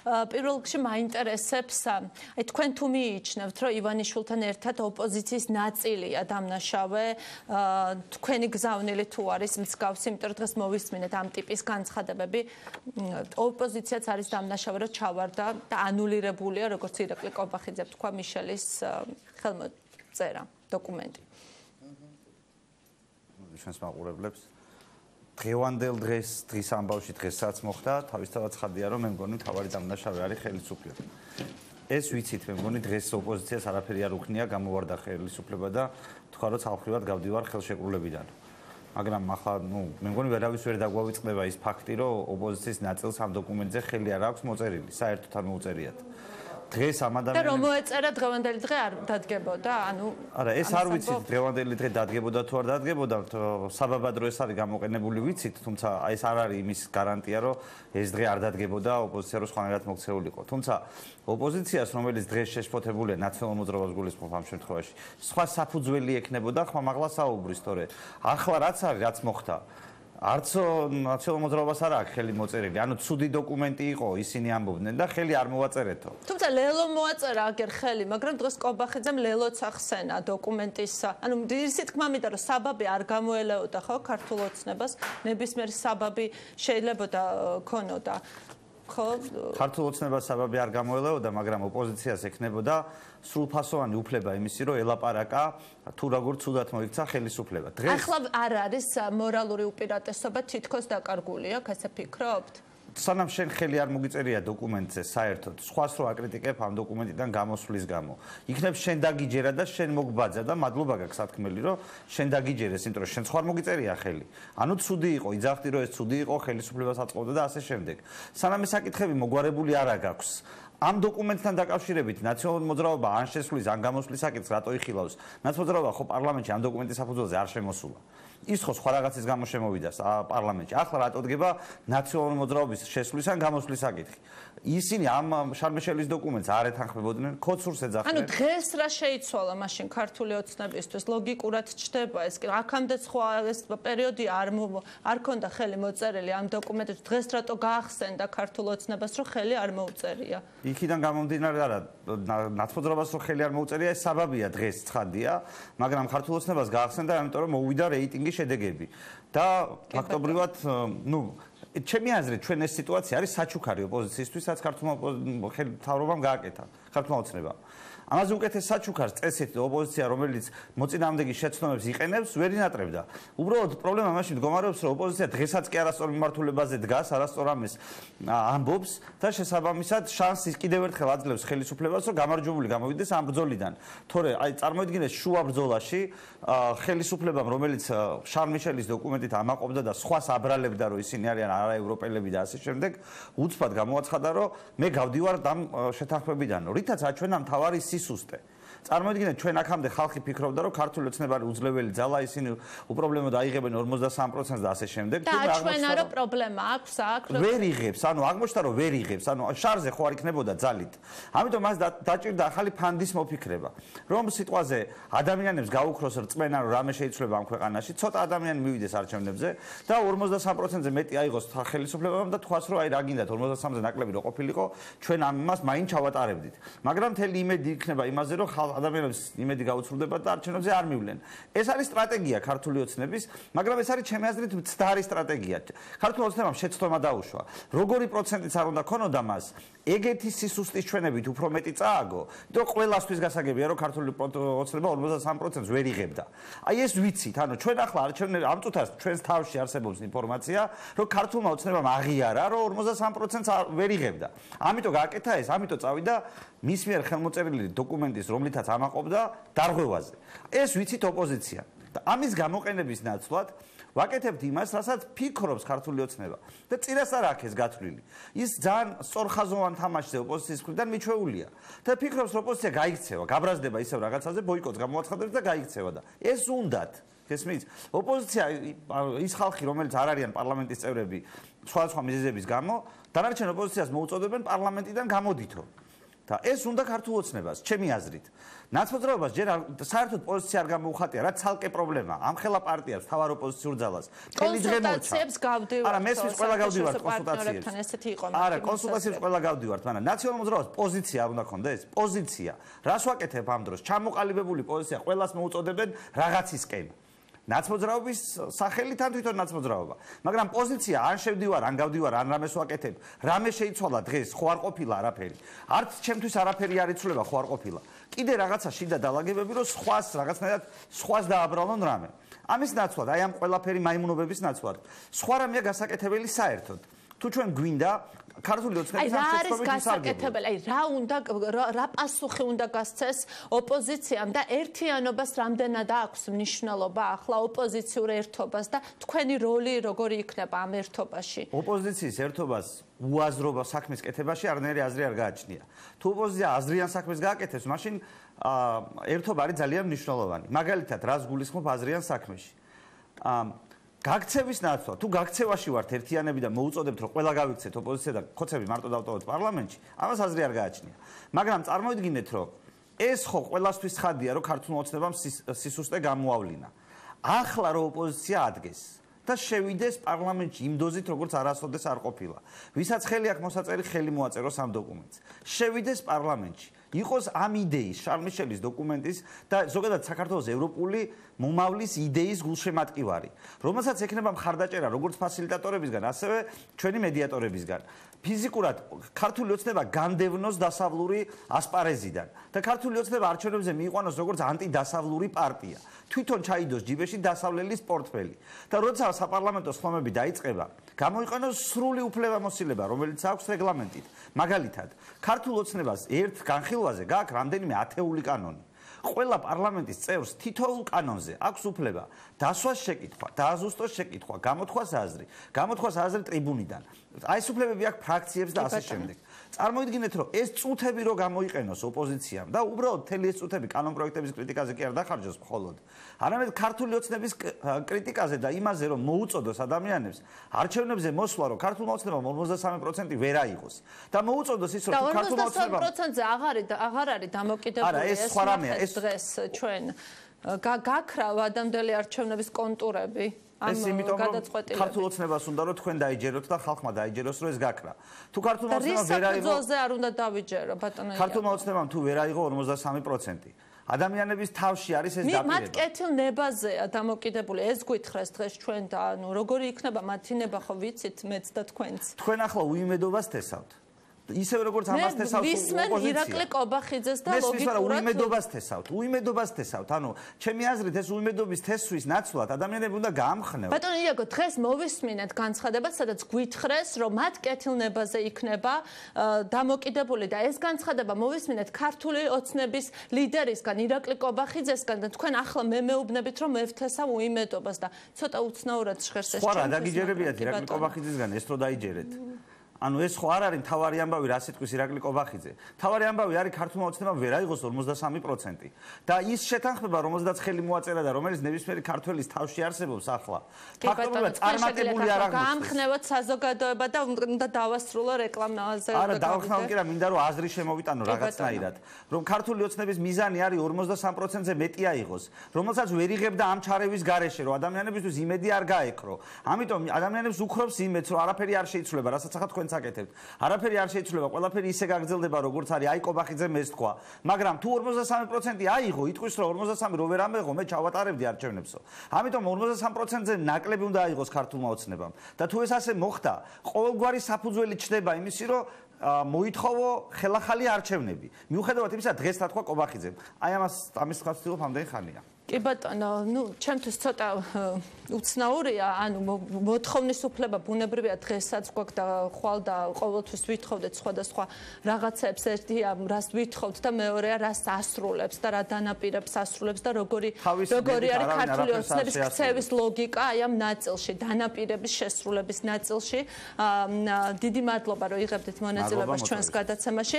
პირველ რიგში მაინტერესებს აი თქვენ თუ მიიჩნევთ რომ ივანიშვილთან ერთად ოპოზიციის ნაწილია დამნაშავე თქვენი გზავნილი თუ არის მსგავსი იმიტომ რომ დღეს მოვისმინეთ ამ ტიპის განცხადებები ოპოზიციაც არის დამნაშავე რომ ჩავარდა და ანულირებულია როგორც ირაკლი კობახიძე თქვა მიშელის ხელმოწერა დოკუმენტი ჩვენს მაყურებლებს დღევანდელ დღის ამბავში დღესაც მოხდა თავისთავად ცხადია რომ მე მგონი თავარი დამნაშავე არის ხელისუფლება ეს ვიცით მე მგონი დღეს ოპოზიციას არაფერი არ უხნია გამოვარდა ხელისუფლება და თქვა რომ ცალფრივად გავდივარ ხელშეკრულებიდან მაგრამ ახლა მე მგონი ვერავის ვერ დაგვავიწყდება ის ფაქტი რომ ოპოზიციის ნაწილს ამ დოკუმენტზე ხელი არ აქვს მოწერილი საერთოდ არ მოუწერიათ დღეს ამ ადამიანებს და რომ მოეწერა დღევანდელი დღე არ დადგებოდა ანუ არა ეს არ ვიცით დღევანდელი დღე დადგებოდა თუ არ დადგებოდა საბაბადრო ეს არის გამოყენებული ვიცით თუმცა ეს არ არის იმის გარანტია რომ ეს დღე არ დადგებოდა ოპოზიცია რო სხვანაირად მოქცეულიყო თუმცა ოპოზიციას რომელიც დღეს შეშფოთებულია ნაციონალურ მოძრაობას გულისხმობ ამ შემთხვევაში სხვა საფუძველი ექნებოდა ხმამაღლა საუბრის თორე ახლა რაც არის რაც მოხდა არც ნაციონალურ მოძრაობას არ აქვს ხელი მოწერილი. ანუ ცუდი დოკუმენტი იყო, ისინი ამბობდნენ და ხელი არ მოვაწერეთო. თუმცა ლელო მოაწერა აგერ ხელი, მაგრამ დღეს კობახიძემ ლელოც ახსენა დოკუმენტის. ანუ ისეთ თქმა მინდა რომ საბაბი არ გამოელეოდა ხო ქართულ ოცნებას, ნებისმიერი საბაბი შეიძლება ქონოდა. ხო? ქართულ ოცნებას საბაბი არ გამოელეოდა, მაგრამ ოპოზიციას ექნებოდა სრულფასოვანი უფლება იმისი, რომ ელაპარაკა თუ როგორ ცუდად მოიქცა ხელისუფლება. ახლა არ არის მორალური უპირატესობა თითქოს დაკარგული აქ, ასე ფიქრობთ? სანამ შენ ხელი არ მოგიწერია დოკუმენტზე საერთოდ, სხვას რო აკრიტიკებ ამ დოკუმენტიდან გამოსვლის გამო. იქნებ შენ დაგიჯერა და შენ მოგბაძა და მადლობა გაქვს სათქმელი, რომ შენ დაგიჯერეს, იმიტომ რომ შენ სხვა არ მოგიწერია ხელი. ანუ ცუდი იყო, იძახდი რომ ეს ცუდი იყო, ხელისუფლებას აწყობდა და ასე შემდეგ. სანამ ეს საკითხები მოგვარებული არა გაქვს. ამ დოკუმენტთან დაკავშირებით ნაციონალური მოძრაობა ან შესვლის ან გამოსვლის საკითხს რატო იხილავს? ნაცმოძრაობა ხო პარლამენტში ამ დოკუმენტის საფუძველზე არ შემოსულა. ის ხო სხვა რაღაცის გამო შემოვიდა პარლამენტში. ახლა რატო დგება ნაციონალური მოძრაობის შესვლის ან გამოსვლის საკითხი? ისინი ამ შარმეშელის დოკუმენტს არ ეთანხმებოდნენ, ქოცურს ეძახდნენ. ანუ დღეს რა შეიცვალა მაშინ ქართული ოცნებისთვის? ლოგიკურად ჩდება ეს. აქამდე სხვა ეს პერიოდი არ ქონდა ხელი მოწერილი ამ დოკუმენტებს. დღეს რატო გაახსენდა ქართულ ოცნებას, რომ ხელი არ მოუწერია? იქიდან გამომდინარე არა, ნაცმოძრაობას რო ხელი არ მოუწერია, ეს საბაბია დღეს ცხადია, მაგრამ ქართულ ოცნებას გაახსენდა, ამიტომ რომ მოვიდა რეიტინგის შედეგები. და ფაქტობრივად, ჩემი აზრით, ჩვენ ეს სიტუაცია არის საჩუქარი ოპოზიციისთვის, რაც ქართულმა მთავრობამ გააკეთა, ქართულმა ოცნებამ. ამაზე უკეთეს საჩუქარს წესით ოპოზიცია, რომელიც მოწინააღმდეგის შეცდომებს იყენებს, ვერ ინატრებდა. უბრალოდ პრობლემა მაშინ მდგომარეობს, რომ ოპოზიცია დღესაც კი არასწორ მიმართულებაზე დგას, არასწორ ამის ამბობს და შესაბამისად შანსის კიდევ ერთხელ აძლევს ხელისუფლებას, რომ გამარჯვებული გამოვიდეს ამ ბრძოლიდან. თორე აი წარმოიდგინეთ შუა ბრძოლაში ხელისუფლებამ, რომელიც შარლ-მიშელის დოკუმენტით ამაყობდა და სხვას აბრალებდა, რომ ისინი არიან არაევროპელები და ასე შემდეგ, უცბად გამოაცხადა, რომ მე გავდივარ ამ შეთანხმებიდან, რითაც აჩვენა მთავარი სისუსტე. წარმოიდგინეთ ჩვენ აქამდე ხალხი ფიქრობდა რომ ქართული ოცნება არის უძლეველი ძალა ისინი უპრობლემოდ აიღებენ 43% და ასე შემდეგ და აჩვენა რომ პრობლემა აქვს აქ ვერ იღებს ანუ აღმოჩნდა რომ ვერ იღებს ანუ შარზე ხო არ იქნებოდა ძალით ამიტომ მას დაჭირდა ახალი ფანდის მოფიქრება რომ სიტყვაზე ადამიანებს გაუქროს რწმენა რომ რამე შეიცვლება ამ ქვეყანაში ცოტა ადამიანი მივიდეს არჩევნებზე და 43%-ზე მეტი აიღოს ხელისუფლებამ და თქვას რომ აი რა გინდათ 43%-ზე ნაკლები რო ყოფილიყო ჩვენ ამას მაინც ჩავატარებდით მაგრამ მთელი იმედი იქნება იმაზე რომ ადამიანებს იმედი გაუცვლდება და არჩევნებზე არ მივლენ. ეს არის სტრატეგია ქართული ოცნების, მაგრამ ეს არის ჩემი აზრით მცდარი სტრატეგია. ქართული ოცნებამ შეცდომა დაუშვა. როგორი პროცენტიც არ უნდა ქონოდა მას, ეგეთი სისუსტის ჩვენებით უფრო მეტი წააგო, რომ ყველასთვის გასაგებია, რომ ქართული ოცნება 43%-ს ვერ იღებდა. აი ეს ვიცით, ანუ ჩვენ ახლა არჩევნები ამ წუთას ჩვენს თავში არსებობს ინფორმაცია, რომ ქართულმა ოცნებამ აღიარა, რომ 43%-ს ვერ იღებდა. ამიტომ გააკეთა ეს, ამიტომ წავიდა მის მიერ ხელმოწერილი დოკუმენტის, რომლითაც ამაყობდა დარღვევაზე. ეს ვიცით ოპოზიცია. და ამის გამოყენების ნაცვლად ვაკეთებთ იმას, რასაც ფიქრობს ქართული ოცნება და წინას არ აქვს ეს გათვლილი. ის ძალიან სწორხაზოვან თამაშზე ოპოზიციის მხრიდან მიჩვეულია. და ფიქრობს, რომ ოპოზიცია გაიქცევა, გაბრაზდება ისევ რაღაცაზე, ბოიკოტს გამოაცხადებს და გაიქცევა და ეს უნდათ. გესმის? ოპოზიცია ის ხალხი, რომელიც არ არიან პარლამენტის წევრები სხვადასხვა მიზეზების გამო, დანარჩენ ოპოზიციას მოუწოდებენ პარლამენტიდან გამოდითო. და ეს უნდა ქართულ ოცნებას, ჩემი აზრით. ნაცმოძრაობას ჯერ საერთოდ პოზიცია არ გამოუხატია, რა ცალკე პრობლემაა. ამ ხელა პარტიას, თავარ ოპოზიციურ ძალას. კონსულტაციებს გავდივართ. არა, მესმის ყველა გავდივართ კონსულტაციებს. არა, კონსულტაციებს ყველა გავდივართ, მაგრამ ნაციონალურ მოძრაობას პოზიცია არ უნდა ქონდეს? პოზიცია. რას ვაკეთებ ამ დროს? ჩამოყალიბებული პოზიცია ყველას მოუწოდებენ რაღაცისკენ. ნაცმოძრაობის სახელით ან თვითონ ნაცმოძრაობა. მაგრამ პოზიცია ან შევდივარ, ან გავდივარ, ან რამეს ვაკეთებ. რამე შეიცვალა დღეს, ხო არ ყოფილა არაფერი. არც ჩემთვის არაფერი არ იცვლება, ხო არ ყოფილა. კიდე რაღაცა შიდა დაალაგებები, რომ სხვას რაღაცნაირად სხვას დააბრალონ რამე. ამის ნაცვლად, აი ამ ყველაფერი მაიმუნობების ნაცვლად. სხვა რამეა გასაკეთებელი საერთოდ. თუ ჩვენ გვინდა ქართული ოცნების ამ შეცდომით გასაკეთებელი, აი რა უნდა რა პასუხი უნდა გასცეს ოპოზიციამ და ერთიანობას რამდენად აქვს მნიშვნელობა ახლა ოპოზიციურ ერთობას და თქვენი როლი როგორი იქნება ამ ერთობაში? ოპოზიციის ერთობას უაზრობა საქმის კეთებაში არნაირი აზრი არ გააჩნია. თუ ოპოზიცია აზრიან საქმეს გააკეთებს, მაშინ ერთობა არის ძალიან მნიშვნელოვანი. მაგალითად, რას გულისხმობ აზრიან საქმეში? გაქცევის ნაცვლად, თუ გაქცევაში ვართ ერთიანები და მოუწოდებთ, რომ ყველა გავიქცეთ ოპოზიცია და ხოცები მარტო დავტოვოთ პარლამენტში, ამას აზრი არ გააჩნია. მაგრამ წარმოიდგინეთ, რომ ეს ხო ყველასთვის ხადია, რომ ქართულმა ოცნებამ სისუსტე გამოავლინა. ახლა რომ ოპოზიცია ადგეს და შევიდეს პარლამენტში იმ დოზით, როგორც არასოდეს არ ყოფილა. ვისაც ხელი აქვს მოსაწერი, ხელი მოაწეროს ამ დოკუმენტს. შევიდეს პარლამენტში. იყოს ამ იდეის, შარლ მიშელის დოკუმენტის და ზოგადად საქართველოს ევროპული მომავლის იდეის გულშემატკივარი, რომელსაც ექნება მხარდაჭერა როგორც ფასილიტატორებისგან, ასევე ჩვენი მედიატორებისგან. ფიზიკურად ქართული ოცნება განდევნოს დასავლური ასპარეზიდან და ქართული ოცნება არჩევნებზე მიიყვანოს როგორც ანტიდასავლური პარტია. თვითონ ჩაიდოს ჯიბეში დასავლელის პორტფელი და როცა საპარლამენტო სხდომები დაიწყება, გამოიყენოს სრული უფლებამოსილება, რომელიც აქვს რეგლამენტით. მაგალითად, ქართულ ოცნებას ერთ განხილვაზე გააქვს რამდენიმე ათეული კანონი. ყველა პარლამენტის წევრს თითოეულ კანონზე აქვს უფლება დასვას შეკითხვა, დააზუსტოს შეკითხვა, გამოთქვას აზრი ტრიბუნიდან. აი ეს უფლებები აქვს ფრაქციებს და ასე შემდეგ. წარმოიდგინეთ, რომ ეს წუთები რო გამოიყენოს ოპოზიციამ და უბრალოდ მთელი ეს წუთები კანონპროექტების კრიტიკაზე კი არ დახარჯოს მხოლოდ, არამედ ქართული ოცნების კრიტიკაზე და იმაზე, რომ მოუწოდოს ადამიანებს არჩევნებზე მოსვლა, რომ ქართულმა ოცნებამ 43% ვერ აიღოს და მოუწოდოს ის, რომ ქართულმა ოცნებამ 43%-ზე აღარ არის დამოკიდებული ეს დღეს ჩვენ გაქრავ ადამიანელი არჩევნების კონტურები. ეს იმიტომ რომ ქართულ ოცნებას უნდა რომ თქვენ დაიჯეროთ და ხალხმა დაიჯეროს რომ ეს გაქრა. თუ ქართულმა ოცნებამ ვერ აიღო, რის არ უნდა დავიჯერო ბატონო. ქართულმა ოცნებამ თუ ვერ აიღო 53%. ადამიანების თავში არის ეს დაპირება. მათ კეთილნებაზეა დამოკიდებული. ეს გვითხრეს დღეს ჩვენ და ანუ როგორი იქნება მათი ნება ხო ვიცით მეც და თქვენც. თქვენ ახლა უიმედობას თესავთ. ისევე როგორც ამას თესავთ ოპოზიცია. ირაკლი კობახიძეს და ლოგიკურად უიმედობას თესავთ. ანუ ჩემი აზრით ეს უიმედობის თესვის ნაცვლად ადამიანები უნდა გაამხნევონ. ბატონო იაგო, დღეს მოვისმინეთ განცხადებას, სადაც გვითხრეს, რომ მათ კეთილნებაზე იქნება დამოკიდებული და ეს განცხადება მოვისმინეთ ქართული ოცნების ლიდერისგან, ირაკლი კობახიძესგან და თქვენ ახლა მეუბნებით, რომ მევთესავ უიმედობას და ცოტა უცნაურად ჟღერს ეს. სხვა რა დაგიჯერებიათ ირაკლი კობახიძესგან ეს რო დაიჯერეთ. ანუ ეს ხო არ არის მთავარი ამბავი, რა სიტყვის ირაკლი კობახიძე. მთავარი ამბავი არის ქართულმა ოცნებამ ვერ აიღოს 43% და ის შეთანხმება, რომელზედაც ხელი მოაწერა და რომელიც ნებისმიერი ქართველის თავში არსებობს ახლა. ფაქტობრივად წარმატებული არ აღმოჩნდა. გაამხნევოთ საზოგადოება და უნდა დავასრულო რეკლამაზე. არა, დავახსნათ კი რა, მინდა რომ აზრი შემოვიტანო რაღაცნაირად, რომ ქართული ოცნების მიზანი არის 43%-ზე მეტი აიღოს, რომელსაც ვერ იღებდა ამ ჩარევის გარეშე, რომ ადამიანებისთვის იმედი არ გაეკრო. ამიტომ ადამიანებს უხრობს იმედს, რომ არაფერი არ შეიცვლება, რასაც ახლა თქვენ საკეთებთ. არაფერი არ შეიცვლება, ყველაფერი ისე გაგრძელდება, როგორც არის. აი კობახიძემ ეს თქვა. მაგრამ თუ 43% აიღო, იტყვის რომ 43 რო ვერ ამეღო, მე ჩავატარებდი არჩევნებსო. ამიტომ 43%-ზე ნაკლები უნდა აიღოს ქართულმა ოცნებამ. და თუ ეს ასე მოხდა, ყოველგვარი საფუძველი ჩნდება იმისი, რომ მოითხოვო ხელახალი არჩევნები. მიუხედავად იმისა, დღეს რა თქვა კობახიძემ. აი ამის თქვა ვცდილობ ამდენი ხანია. კი ბატონო, ჩემთვის ცოტა უცნაურია, ანუ მოთხოვნის უფლება ბუნებრივია დღესაც გვაქვს და ხვალ და ყოველთვის ვითხოვდეთ სხვადასხვა რაღაცებს, ერთია რას ვითხოვთ და მეორეა რას ასრულებს და რა დანაპირებს ასრულებს და როგორი არის ქართული ოცნების ქცევის ლოგიკა აი ამ ნაწილში, დანაპირების შესრულების ნაწილში. დიდი მადლობა რომ იღებდით მონაწილეობას ჩვენს გადაცემაში.